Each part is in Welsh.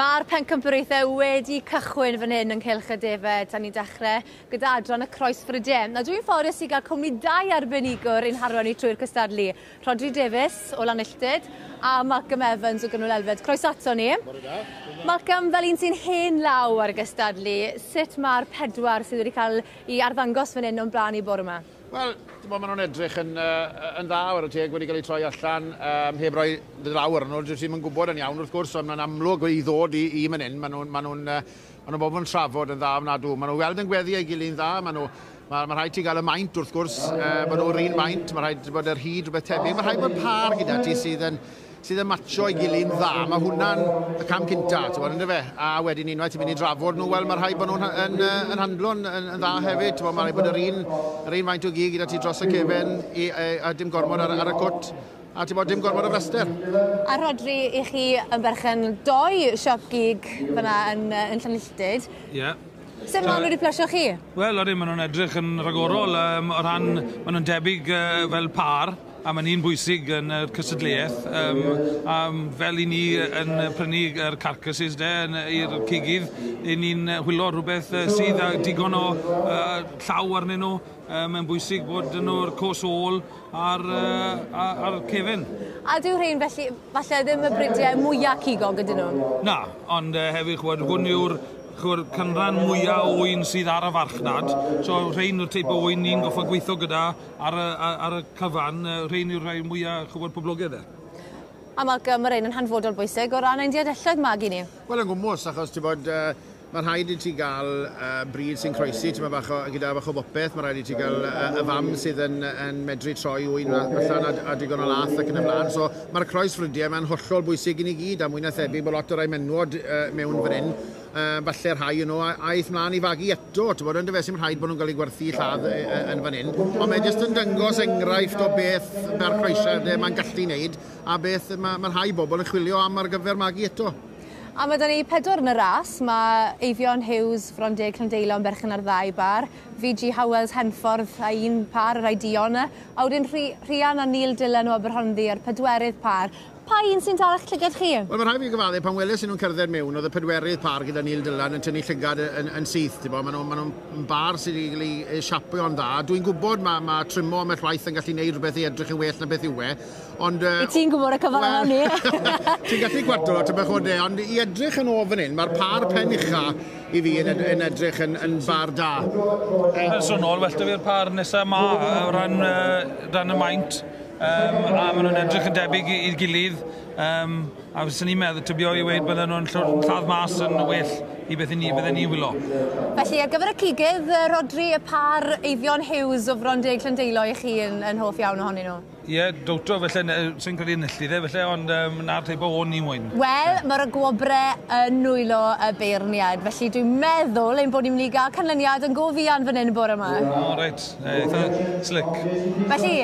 Mae'r pencampwriaethau wedi cychwyn fan hyn yng Nghylch y Defed, a ni'n dechrau gyda adran y croesfrydiau. Na dwi'n ffodus i gael cwmni dau arbenigwr i'n harwain ni trwy'r cystadlu. Rhodri Davies o Lanilltud a Malcolm Evans o Gynwyl Elfed. Croeso ato ni. Malcolm, fel un sy'n hen law ar y gystadlu, sut mae'r pedwar sydd wedi cael ei arddangos fan hyn o'n blaen i bore yma? Wel, ti'n bod, maen nhw'n edrych yn dda ar y teg wedi cael eu troi allan, heb roi law arnyn nhw. Dwi ddim yn gwybod yn iawn wrth gwrs, ond mae'n amlwg i ddod i fan hyn, maen nhw bob yn trafod yn dda ofnadw. Maen nhw weld yn gweddu ei gilydd yn dda, maen nhw, mae rhaid ti gael y maint wrth gwrs, maen nhw'r un maint, mae rhaid bod yr hyd rhywbeth tebyg, mae rhaid bod par gyda ti sydd yn matcho ei gilydd yn dda. Mae hwnna'n y cam cynta, ti'n bod, yndyfe? A wedyn unwaith ti'n mynd i drafod nhw, wel, mae rhaid bod nhw'n yn handlo yn dda hefyd. Ti'n bod, mae rhaid bod yr un faint o gig gyda ti dros y cefen a dim gormod ar y cwt. A ti'n bod, dim gormod o fraster. A Rhodri, i chi yn berchen doi siop gig fyna yn Llanilltud. Ie. Yeah. Sut maen nhw wedi plesio chi? Wel, ydyn, maen nhw'n edrych yn rhagorol o ran, maen nhw'n debyg fel par, a mae'n un bwysig yn y cystadleuaeth. A fel i ni yn prynu yr carcasses de, i'r cigydd, i ni'n chwilio rhywbeth sydd â digon o llaw arnyn nhw. Mae'n bwysig bod nhw'r cos ôl ar cefen. A dyw rhain felly, falle ddim y bridiau mwyaf cigog ydyn nhw? Na, ond hefyd, chwbod, hwn yw'r chwbod, cynran mwyaf o ŵyn sydd ar y farchnad. So rhain yw'r teip o ŵyn ni'n goffo gweithio gyda ar y cyfan. Rhain yw'r rhai mwyaf chwbod, poblogaidd e. A Malcolm, mae rhain yn hanfodol bwysig o ran ein diadelloedd magu ni. Wel, yn gwmws, achos ti'n bod, mae rhaid i ti gael brid sy'n croesi, ti'n bach o, gyda bach o bopeth, mae rhaid i ti gael y fam sydd yn medru troi ŵyn allan a digon o lath ac yn y blaen. So mae'r croesfrydiau mae'n hollol bwysig i ni gyd, a mwy na thebyg bod lot o rai menwod mewn fan hyn. Falle rhai o'n nhw aeth mlaen i fagu eto, ti'n bod, yn dyfe, sy'n rhaid bod nhw'n cael eu gwerthu lladd yn fan hyn. Ond mae jyst yn dangos enghraifft o beth mae'r croesiadau mae'n gallu wneud a beth mae rhai bobl yn chwilio am ar gyfer magu eto. A mae 'da ni pedwar yn y ras. Mae Eifion Hughes, Frondeg Llandeilo yn berchen ar ddau bar. VG Howells Henffordd a un par, y rhai duon. A wedyn Rhian a Neil Dillon o Aberhonddu ar pedwerydd par. Pa un sy'n dal eich llygad chi? Wel, mae rhaid fi gyfadde, pan weles i nhw'n cerdded mewn, oedd y pedwerydd par gyda Neil Dillon yn tynnu llygad yn syth. Ti'n Maen nhw'n ma nhw bar sydd wedi cael ei siapio'n dda. Dwi'n gwybod mae trimo ambell waith yn gallu gwneud rhywbeth i edrych yn well na beth yw e. Ond, Wyt ti'n gwybod y cyfan well, ni? Ti'n gallu gwadlo, ti'n bach o de, ond i edrych yn o fan hyn, mae'r par pen ucha i fi yn edrych yn bar da. Personol, well da fi'r par nesaf ma o ran y maint. A maen nhw'n edrych yn debyg i'r gilydd. A fyswn i'n meddwl, tybio i weud bydden nhw'n lladd mas yn well i beth i ni, bydden ni'n wylo. Felly, ar gyfer y cigydd, Rodri, y par Eifion Hughes o Frondeg Llandeilo i chi yn hoff iawn ohonyn nhw? Ie, yeah, dowto, felly, sy'n credu enillydd e, felly, ond na'r teip o ôn ni moyn. Wel, mae'r gwobre yn nwylo y beirniad, felly dwi'n meddwl ein bod ni'n mynd i gael canlyniad yn go fuan fan hyn y bore yma. O, reit, eitha slick. Felly,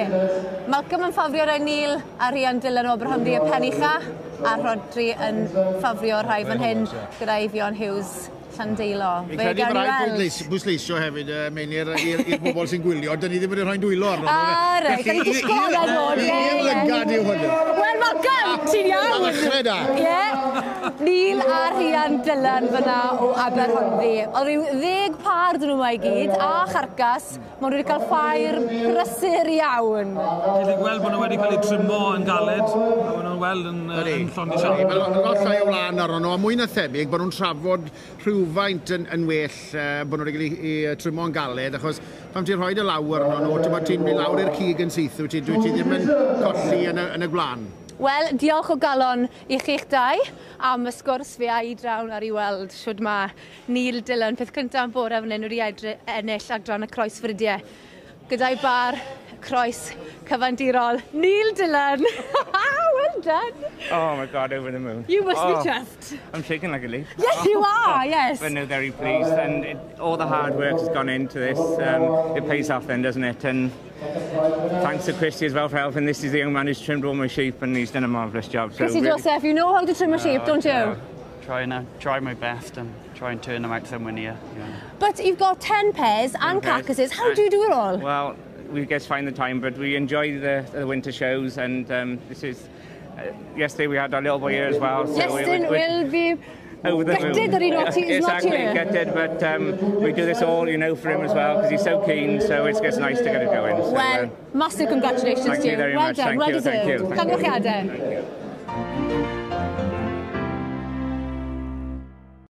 Malcolm yn ffafrio rai Neil a Rhian Dylan o Aberhonddu y pen ucha, a Rodri yn ffafrio rhai fan hyn gyda Eifion Hughes Llandeilo. Fi'n credu bod rhaid bwysleisio hefyd, Meinir, i'r bobl sy'n gwylio, dyn ni ddim wedi rhoi'n dwylo arno. Ah, reit, da ni disgwyl am ddod, ie. I'r lygad yw hwnnw. Wel, Malcolm, ti'n iawn? A ddechrau da. Ie. Neil a Rhian Dylan fyna o Aberhonddu. Oedd rhyw 10 par dyn nhw yma i gyd, a charcas. Maen nhw wedi cael ffair brysur iawn. Ti'n gweld bod nhw wedi cael eu trimo yn galed, a maen nhw'n weld yn llond i siap. Mae lot llai o wlân arno nhw, a mwy na thebyg bod nhw'n trafod rhywfaint yn well bod nhw wedi cael eu trimo yn galed, achos pan ti'n rhoi dy law arno nhw, ti'n mynd lawr i'r cig yn syth, wyt ti ddim yn colli yn y gwlân. Wel, diolch o galon i chi'ch dau am y sgwrs. Fe a i draw ar i weld shwd mae Neil Dillon, peth cyntaf am bore fan hyn, wedi ennill adran y croesfrydiau gyda'i bar croes cyfandirol. Neil Dillon! Well done! Oh my God, over the moon. You must oh, be chuffed. I'm shaking like a leaf. Yes, you are, yes. But no, very pleased. And all the hard work has gone into this. It pays off then, doesn't it? And thanks to Christy as well for helping. This is the young man who's trimmed all my sheep and he's done a marvellous job. So Chrissy really. Joseph, you know how to trim a sheep, don't you? Yeah. Try my best and try and turn them out somewhere near. Yeah. But you've got 10 pairs and 10 carcasses. How do you do it all? Well, we just find the time, but we enjoy the winter shows and this is... Yesterday we had our little boy here as well. So Iestyn will be Over the Gutted moon. That he not, he's exactly, not here. Gutted, but we do this all for him as well, because he's so keen, so it's just nice to get it going. So, Well, massive congratulations thank to you. You very Well much. done, Thank well you, deserved. thank you. Thank you. Llongyfarchiadau. Thank you.